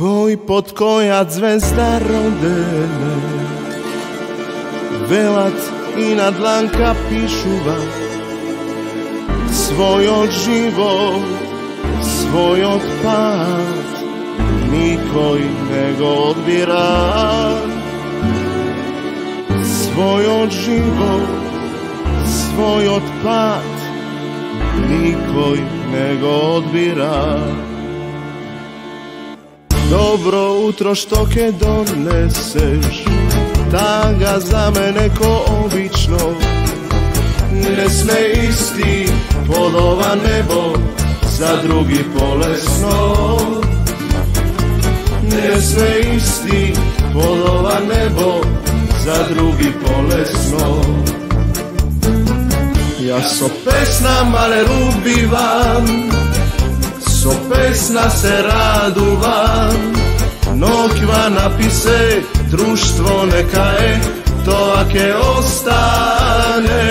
Кој под која звезда родене, велат и на дланка пишува својот живот, својот пат, никој не го одбира. Својот живот, својот пат, никој не го одбира. Добро утро што ке донесеш, тага за мене ко обично. Не сме исти под ова небо, за други полесно. Не сме исти под ова небо, за други полесно. Јас со песна мале убивам, со песна се радувам. Ноќва написе, друштво нека е, тоа ке остане.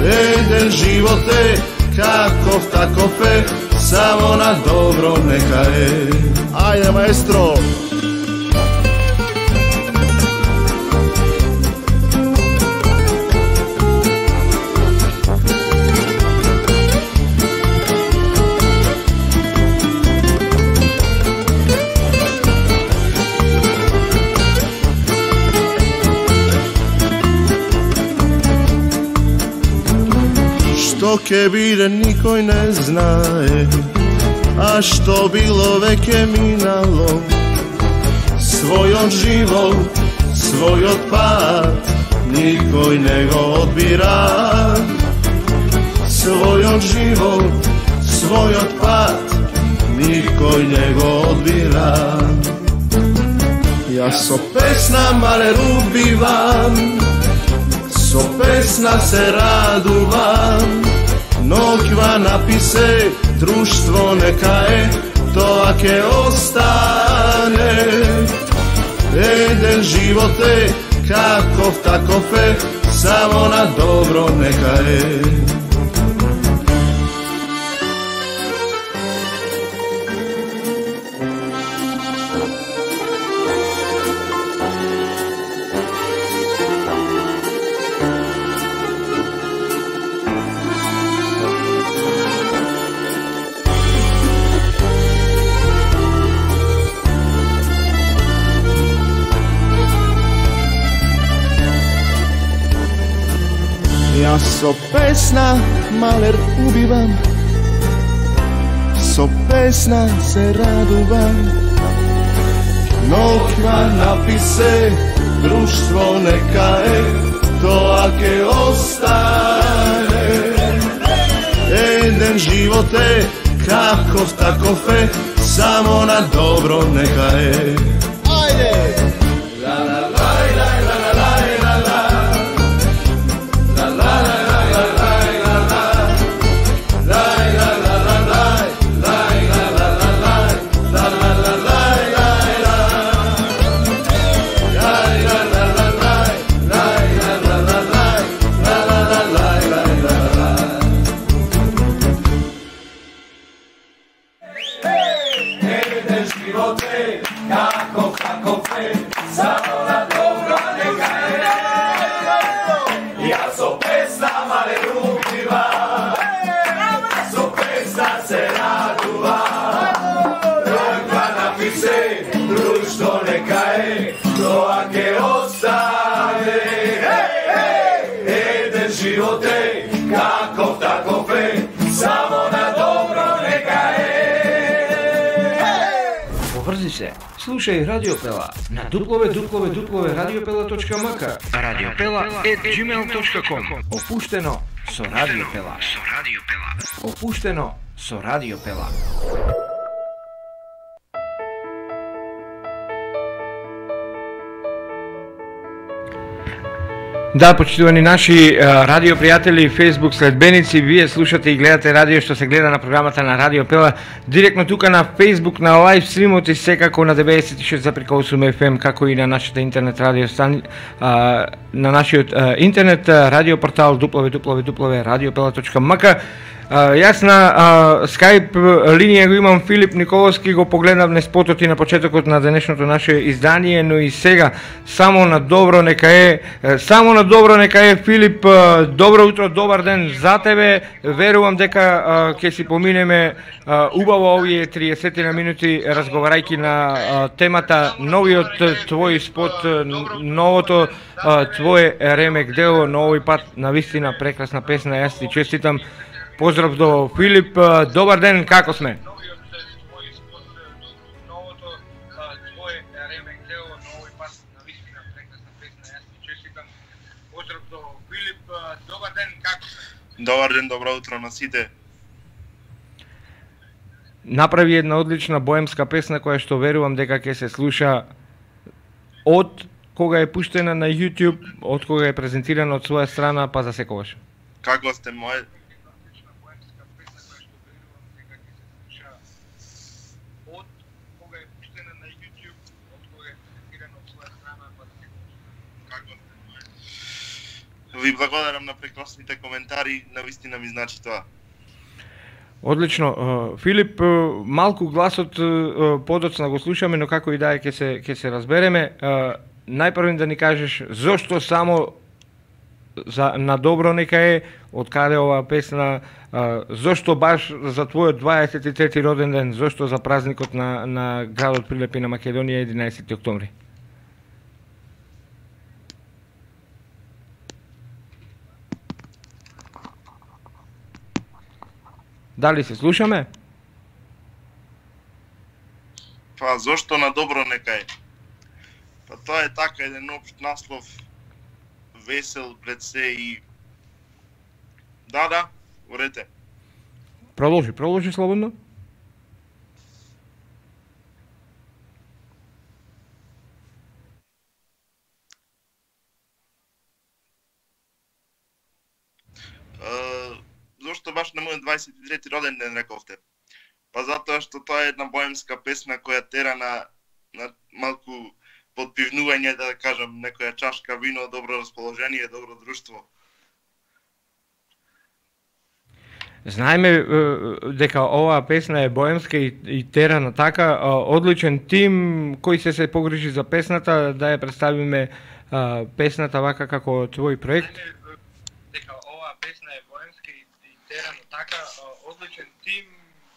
Еден живот е, каков таков е, само на добро нека е. Ајде, маестро! Што ке биде никој не знае, а што било веќе минало. Својот живот, својот пат, никој не го одбира. Својот живот, својот пат, никој не го одбира. Јас со песна мале убивам, со песна се радувам. Ноќва написе, друштво нека е, тоа ке остане. Еден живот е, каков таков е, само на добро нека е. Јас со песна малер убивам, со песна се радувам. Ноќва написе, друштво нека е, тоа ке остане. Еден живот е, каков таков е, само на добро нека е. Ајде! Слушај Радиопела на www.radiopela.mk, radiopela@gmail.com. Опуштено со Радиопела. Опуштено со Радиопела. Да, почитувани наши радио пријатели и Facebook следбеници, вие слушате и гледате радио што се гледа на програмата на Радио Пела директно тука на Facebook, на лайв стримот и секако на 96,8 FM, како и на нашата интернет радио на нашиот интернет радио портал www.radiopela.mk. Јас на Skype линија го имам Филип Николовски, го погледнав на спотот и на почетокот на денешното наше издание, но и сега само на добро нека е Филип, добро утро, добар ден за тебе. Верувам дека ќе си поминеме убаво овие 30 минути разговарајќи на темата новиот твој спот, новото твое ремек дело, на овој пат на вистина прекрасна песна. Јас ти честитам. Поздрав до Филип, добар ден, како сме? Добар ден, добро утро на сите. Направи една одлична боемска песна која што верувам дека ќе се слуша од кога е пуштена на YouTube, од кога е презентирана од своја страна, па за секогаш. Како сте мој? Ви благодарам на прекрасните коментари, навистина ми значи тоа. Одлично. Филип, малку гласот подоцна го слушаме, но како и да е ќе се разбереме. Најпрво да ни кажеш зошто само на добро нека е, од каде оваа песна, зошто баш за твојот 23 роден ден, зошто за празникот на градот Прилепи на Македонија 11 октомври? Дали се слушаме? Па зошто на добро нека е? Па тоа е така еден општ наслов, весел пред се и... Да, урете. Продолжи слободно. Зошто баш на мојот 23 роден ден рековте? Па затоа што тоа е една боемска песна која тера на малку подпивнување, да кажам, некоја чашка вино, добро расположение, добро друштво. Знаеме дека оваа песна е боемска и тера на така одличен тим кој се погрижи за песната, да ја представиме песната вака како твој проект. Дека оваа песна е боемска и тера на така одличен тим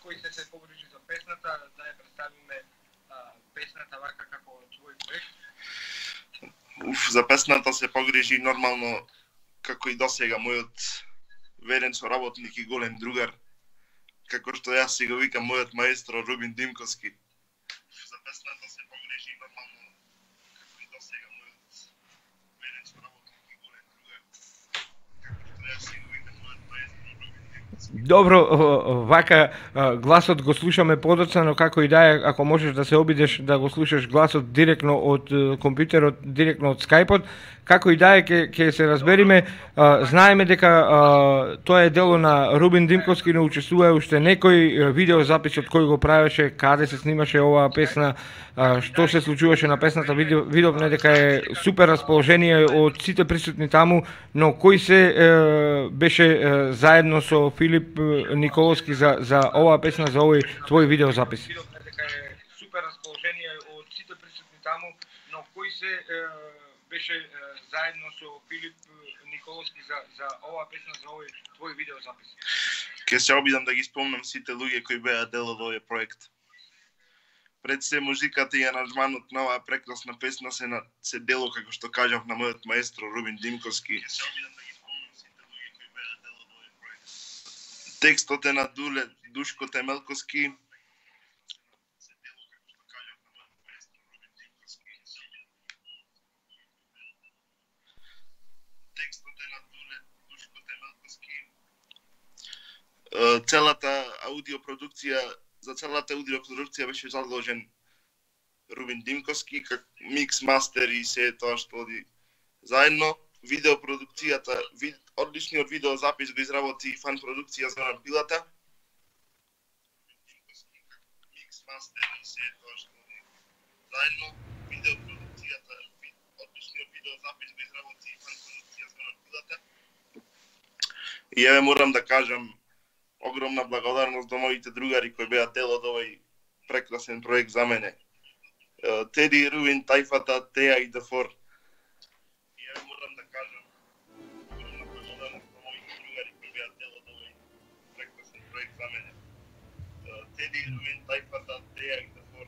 кој се погрижи за песната, да ја представиме песната вака како твој проект. За песната се погрижи нормално како и досега мојот верен соработник и голем другар, како што јас си го викам мојот маестро Рубин Димковски. За песната се погрижи нормално како и досега мојот верен соработник и голем другар, како што јас си го викам мојот маестро Рубин Димковски. Добро, вака гласот го слушаме подоцна, но како и да е, ако можеш да се обидеш да го слушаш гласот директно од компјутерот, директно од Скајпот, како и да е, ќе се разбериме. Знаеме дека тоа е дело на Рубин Димковски, но учествува уште некој видеозапис од кој го правеше, каде се снимаше оваа песна, што се случуваше на песната. Видовме дека е супер расположение од сите присутни таму, но кој се беше заедно со Филип Николовски за оваа песна, за овој твој видеозапис? Видовме дека е супер расположение од сите присутни таму, но кој се беше заедно со Филип Николовски за оваа песна, за овој твој видеозапис? Ке се обидам да ги спомнам сите луѓе кои беа дел од овој проект. Пред се музиката и аранжманот на оваа прекрасна песна се дело, како што кажав, на мојот маестро Рубин Димковски. Ке се обидам да ги спомнам сите луѓе кои беа дел од овој проект. Текстот е на Душко Темелковски. За целата аудиопродукција беше задолжен Рубин Димковски, как микс, мастер и се тоа што оди заедно. Видеопродукцијата, одличниот видеозапис го изработи фан продукција Зоран Пилата. Микс, мастер и се тоа што оди заедно. Видеопродукцијата, одличниот видеозапис го изработи фан продукција Зоран Пилата. И еве морам да кажам, огромна благодарност до моите другари кои беа дел од овој прекрасен проект за мене. Теди, Руин, Тајфата, Теја и Дефор. И ја морам да кажам огромна благодарност до моите другари кои беа дел од овој прекрасен проект за мене. Теди, Руин, Тајфата, Теја и Дефор.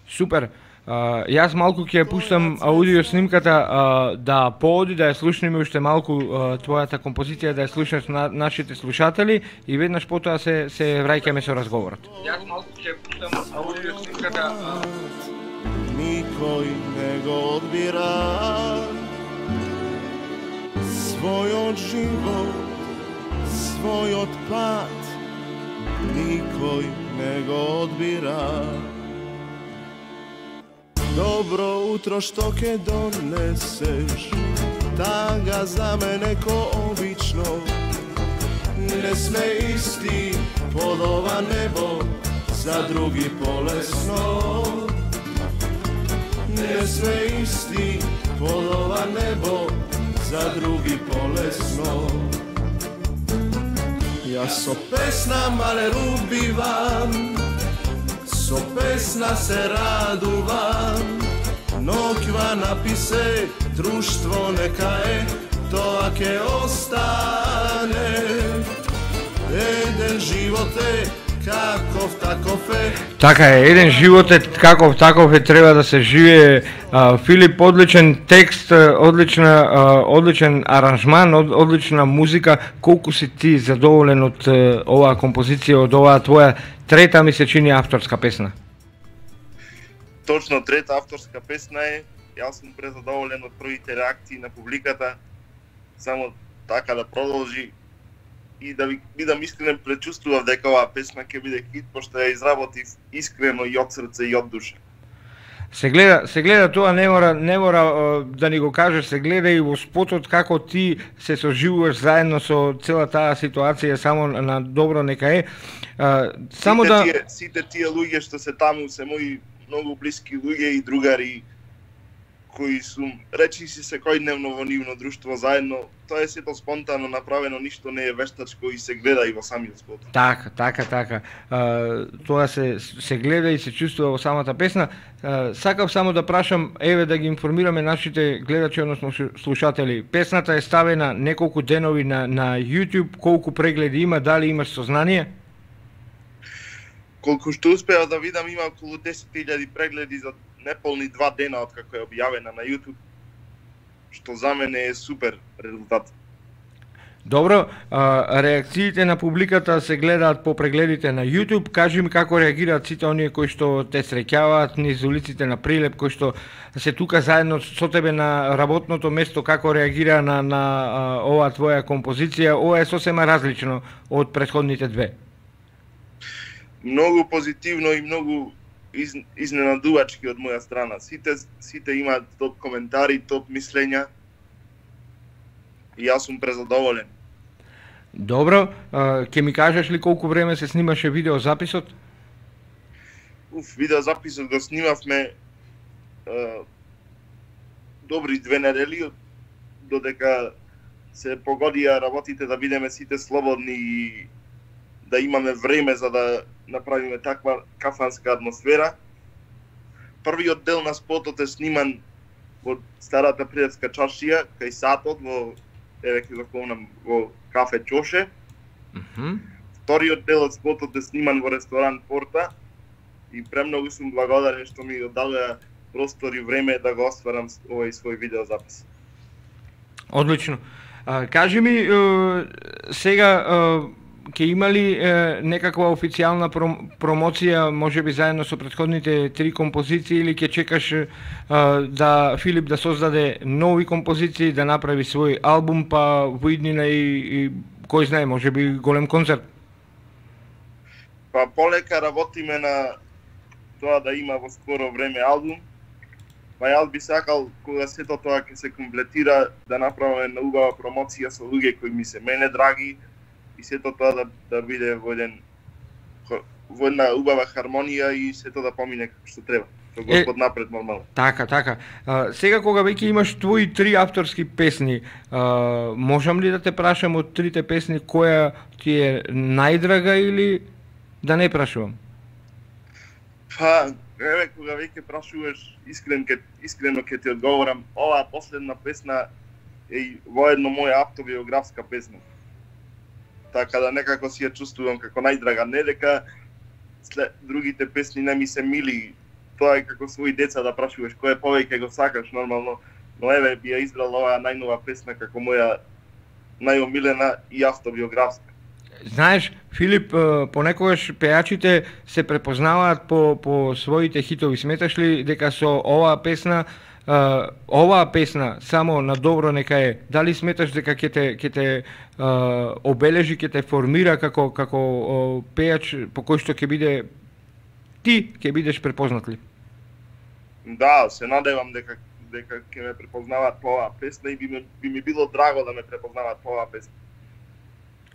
Супер. Јас малку ќе пуштам аудио снимката да пооди, да ја слушнеме уште малку твојата композиција, да ја слушнеш на нашите слушатели и веднаш потоа се враќаме со разговорот. Јас малку ќе пуштам аудио снимката. Никој не го одбира својот живот, својот пат, никој не го одбира. Добро утро што ќе донесеш, тага за мене ко обично. Не сме исти под ова небо, за други полесно. Не сме исти под ова небо, за други полесно. Јас со песна мале убивам, со песна се радувам, ноќва написе, друштво нека е, тоа ќе остане. Еден живот е, каков таков е. Така е, еден живот е каков таков е, треба да се живее. Филип, одличен текст, одличен аранжман, одлична музика. Колку си ти задоволен од оваа композиција, од оваа твоја трета, ми се чини, авторска песна? Точно, трета авторска песна е. Јас сум презадоволен од првите реакции на публиката. Само така да продолжи и да ви бидам искрен, предчувствував дека оваа песна ќе биде хит, пошто ја изработив искрено и од срце и од душа. Се гледа тоа, не мора да ни го кажеш, се гледа и во спотот како ти се соживуваш заедно со цела таа ситуација, само на добро нека е. Само сите тие луѓе што се таму се мои многу блиски луѓе и другари кои сум речи си секојдневно во нивно друштво заедно. Тоа е сето спонтано направено, ништо не е вештачко и се гледа и во самиот спот. Така. Тоа се гледа и се чувствува во самата песна. Сакав само да прашам, еве да ги информираме нашите гледачи, односно слушатели. Песната е ставена неколку денови на YouTube, колку прегледи има, дали имаш сознание? Колку што успеа да видам, има околу 10.000 прегледи за неполни 2 дена од како е објавена на YouTube, што за мене е супер резултат. Добро, реакциите на публиката се гледаат по прегледите на YouTube. Кажи ми како реагираат сите оние кои што те среќаваат низ улиците на Прилеп, кои што се тука заедно со тебе на работното место, како реагира на оваа твоја композиција? Ова е сосема различно од претходните две. Многу позитивно и многу изненадувачки од моја страна. Сите имаат топ коментари, топ мислења и јас сум презадоволен. Добро, ќе ми кажеш ли колку време се снимаше видеозаписот? Видеозаписот го снимавме добри 2 недели, додека се погодија работите да бидеме сите слободни и да имаме време за да направиме таква кафанска атмосфера. Првиот дел на спотот е сниман во старата Прилепска чаршија, кај сатот, во кафе Чоше. Вториот дел од спотот е сниман во ресторан Порта и премногу сум благодарен што ми дадоа простор и време да го остварам овој свој видеозапис. Одлично. Кажи ми, сега ќе има ли некаква официјална промоција, можеби заедно со претходните 3 композиции, или ќе чекаш да Филип да создаде нови композиции, да направи свој албум, па во иднина и кој знае, можеби голем концерт? Па полека работиме на тоа да има во скоро време албум. Па јас би сакал кога сето тоа ќе се комплетира да направиме на убава промоција со луѓе кои ми се мене драги, и сето тоа да биде во еден во една убава хармонија и сето да помине како што треба. Со Господ напред нормално. Така. Сега кога веќе имаш твои 3 авторски песни, можам ли да те прашам од 3 песни која ти е најдрага или да не прашувам? Па, еве кога веќе прашуваш, искрено ќе ти одговорам, оваа последна песна е воедно моја автобиографска песна. Така да некако си ја чувствувам како најдрага, не дека след другите песни не ми се мили. Тоа е како своји деца да прашуваш кој повеќе го сакаш нормално, но еве би ја избрал оваа најнова песна како моја најомилена и автобиографска. Знаеш, Филип, понекогаш пејачите се препознаваат по своите хитови. Сметаш ли дека со оваа песна само на добро нека е? Дали сметаш дека ќе те обележи, ќе те формира како пејач по кој што ќе биде ти ќе бидеш препознат ли? Да, се надевам дека ќе ме препознаваат по оваа песна и би ми било драго да ме препознаваат по оваа песна.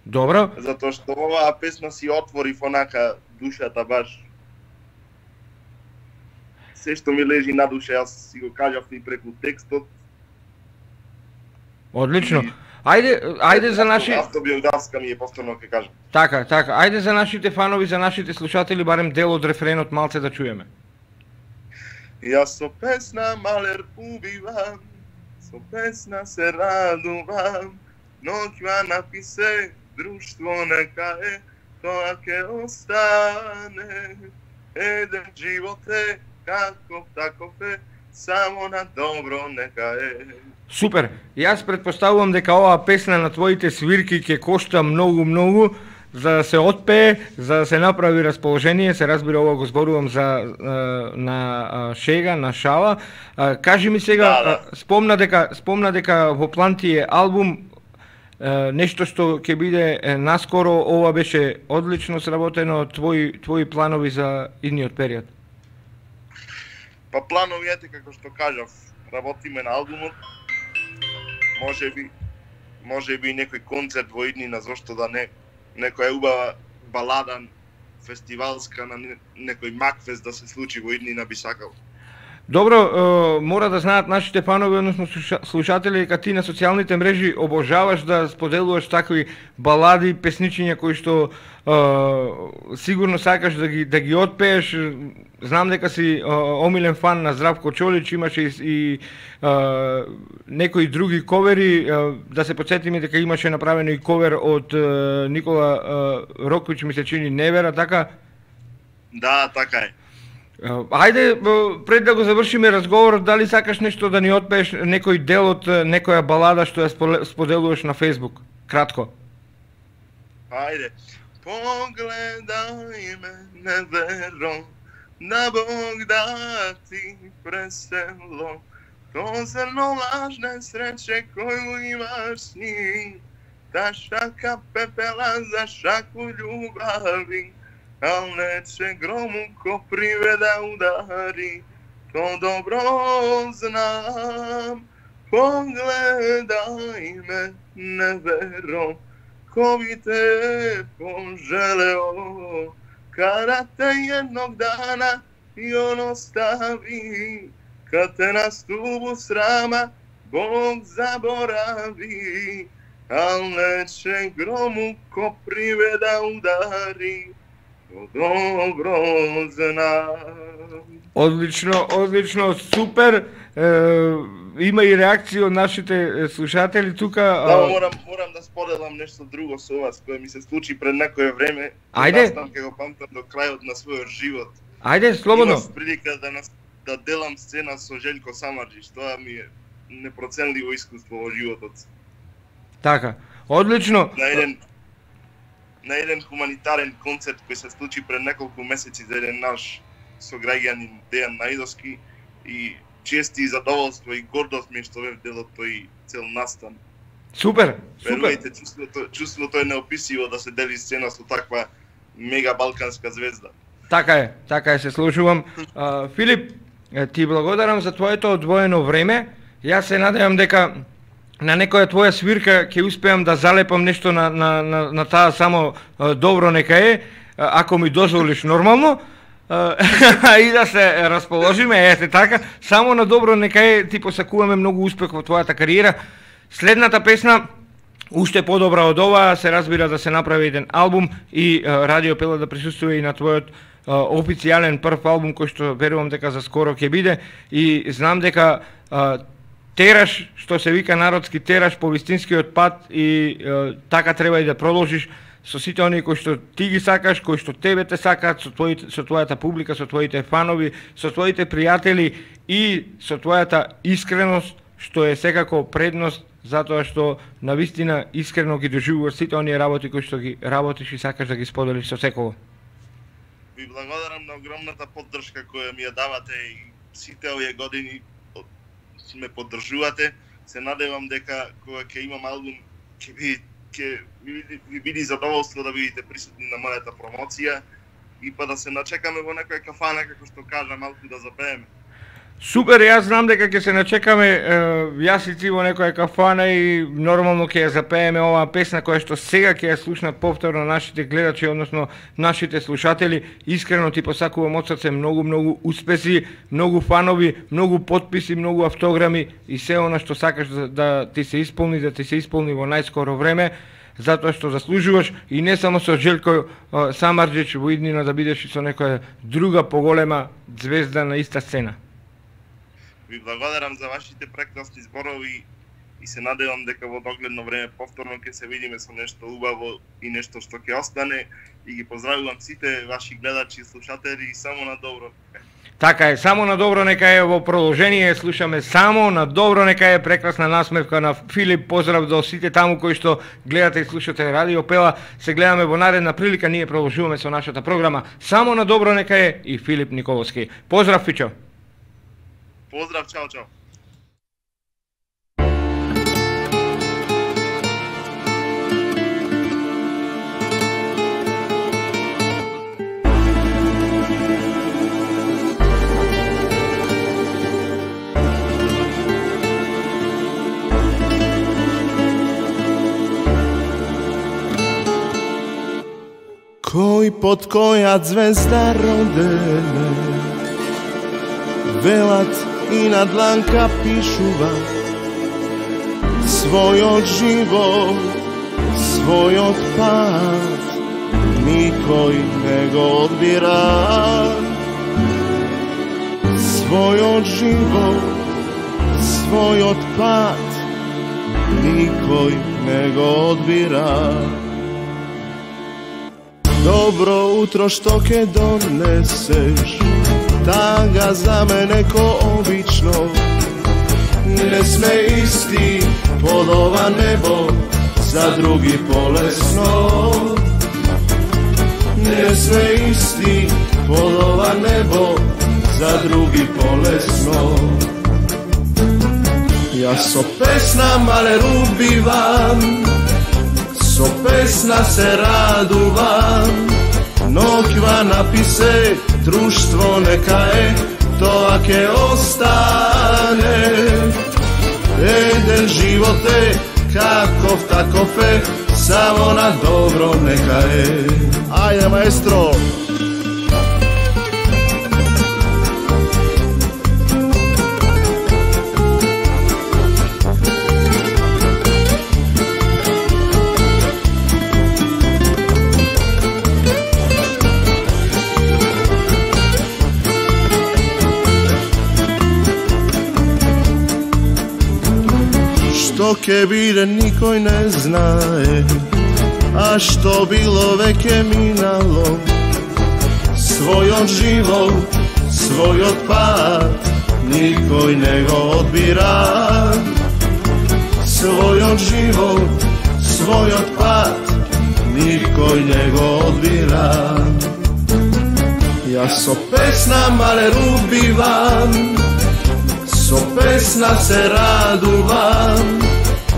Добро. Затоа што оваа песна си отвори онака душата баш. Се што ми лежи на душа, јас си го кажав и преку текстот. Одлично. Ајде за наши автобиографска ми е повторно ќе кажам. Така. Ајде за нашите фанови, за нашите слушатели барем дел од рефренот малце да чуеме. Јас со песна малер убивам, со песна се радувам, ноќва написе друштво нека е, тоа ќе остане. Еден живот е, каков таков е, само на добро нека е. Супер. Јас претпоставувам дека оваа песна на твоите свирки ќе кошта многу за да се отпее, за да се направи расположение, се разбира ова го зборувам на шега, на шала. Кажи ми сега, спомна дека во план ти е албум, нешто што ќе биде наскоро, ова беше одлично сработено, твои планови за идниот период? Па планови ете како што кажав, работиме на албумот. Може би некој концерт во иднина, зошто да не, некоја убава балада фестивалска на некој макфест да се случи во иднина би сакал. Добро, мора да знаат нашите фанови, односно слушатели, дека ти на социјалните мрежи обожаваш да споделуваш такви балади, песничиња кои што сигурно сакаш да ги отпееш. Знам дека си омилен фан на Здравко Чолич, имаше и некои други ковери. Да се подсетиме дека имаше направено и ковер од Никола Рокович, ми се чини Невера, така? Да, така е. Ајде, пред да го завршиме разговорот, дали сакаш нешто да ни отпееш, некој дел од некоја балада што ја споделуваш на Facebook? Кратко. Ајде. Погледај ме, не веро, на Бог да ти пресело, то зрно лажне среće коju имаш с njim, ta šaka pepela za šaku ljubavi, al neće gromu ko priveda udari, to dobro znam. Pogledaj me, ne vero, ko bi te poželeo, kada te jednog dana i on ostavi, kad te na stubu srama Bog zaboravi, al neće gromu ko priveda udari, to dobro znam. Одлично, супер. Има и реакции од нашите слушатели тука. Да, морам да споделам нешто друго со вас, кое ми се случи пред некое време. Ајде. Ќе го памтам до крајот на својот живот. Ајде, слободно. Имав прилика да делам сцена со Желјко Самарџич. Тоа ми е непроценливо искуство во животот. Така, одлично. На еден хуманитарен концерт кој се случи пред неколку месеци за еден наш сограѓанин Дејан Најдовски, и чести и задоволство и гордост ми што бев дел од тој цел настан. Супер. Верувајте, чувството е неописиво да се дели сцена со таква мега балканска звезда. Така е, се слушувам. Филип, ти благодарам за твоето одвоено време. Јас се надевам дека на некоја твоја свирка ќе успеам да залепам нешто на таа само добро нека е. ако ми дозволиш нормално, и да се расположиме, ете така, само на добро нека ти посакуваме многу успех во твојата кариера. Следната песна, уште подобра од ова, се разбира да се направи еден албум и Радио Пела да присуствува и на твојот официјален прв албум кој што верувам дека за скоро ќе биде и знам дека тераш, што се вика народски тераш по вистинскиот пат и така треба и да продолжиш со сите оние кои што ти ги сакаш, кои што тебе те сакаат, со твојата публика, со твоите фанови, со твоите пријатели и со твојата искреност, што е секако предност, затоа што навистина искрено ги доживуваш сите оние работи кои што ги работиш и сакаш да ги споделиш со секого. Ви благодарам на огромната поддршка која ми ја давате и сите овие години ме поддржувате. Се надевам дека кога ќе имам албум ќе ви биде задоволство да бидете присутни на мојата промоција и па да се начекаме во некоја кафана, како што кажа, малку да запееме. Супер, јас знам дека ќе се начекаме јас и ти во некоја кафана и нормално ќе ја запееме оваа песна која што сега ќе ја слушнат повторно нашите гледачи, односно нашите слушатели. Искрено ти посакувам од срце многу успеси, многу фанови, многу потписи, многу автограми и се она што сакаш да ти се исполни, во најскоро време, затоа што заслужуваш и не само со Желко Самарџич во иднина да бидеш и со некоја друга поголема звезда на иста сцена. Ви благодарам за вашите прекрасни зборови и се надевам дека во догледно време повторно ќе се видиме со нешто убаво и нешто што ќе остане и ги поздравувам сите ваши гледачи и слушатели и само на добро. Така е, само на добро нека е во продолжение, слушаме само на добро нека е прекрасна насмевка на Филип, поздрав до сите таму кои што гледате и слушате Радио Пела, се гледаме во наредна прилика, ние продолжуваме со нашата програма, само на добро нека е и Филип Николовски. Поздрав, Фичо! Поздрав, чао, чао! Кој под која звезда родене, велат и на дланка пишува својот живот, својот пат, никој не го одбира. Својот живот, својот пат, никој не го одбира. Добро утро што ке донесеш, тага за мене ко обично. Не сме исти под ова небо, за други полесно. Не сме исти под ова небо, за други полесно. Јас со песна мале убивам, со песна се радувам, ноќва написе, друштво нека е, тоа ќе остане. Еден живот е, каков таков е, само на добро нека е. Ајде, маестро! Што ке биде никој не знае, а што било веќе минало. Својот живот, својот пат, никој не го одбира. Својот живот, својот пат, никој не го одбира. Јас со песна мале убивам, со песна се радувам,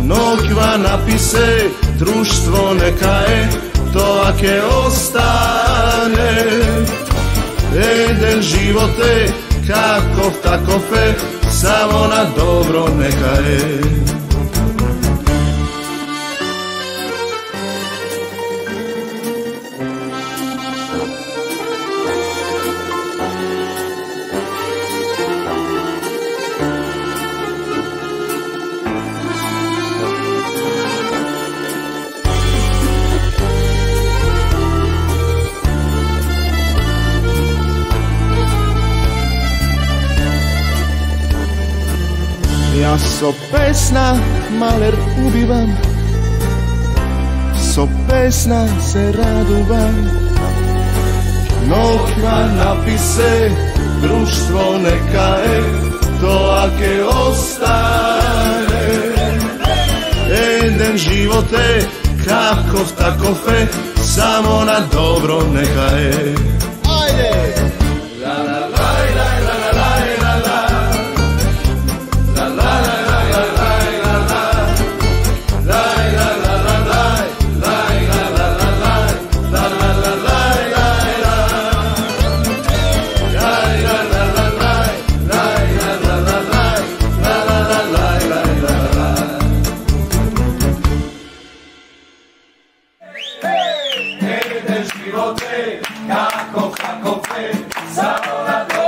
ноќва написе, друштво нека е, тоа ќе остане. Еден живот е, каков таков е, само на добро нека е. Јас со песна малер убивам, со песна се радувам. Ноква написе, друштво нека е, тоа ке остане. Еден живот е, каков таков е, само на добро нека е. Ајде! La la la la la la la la la la la la la Kako fe, samo na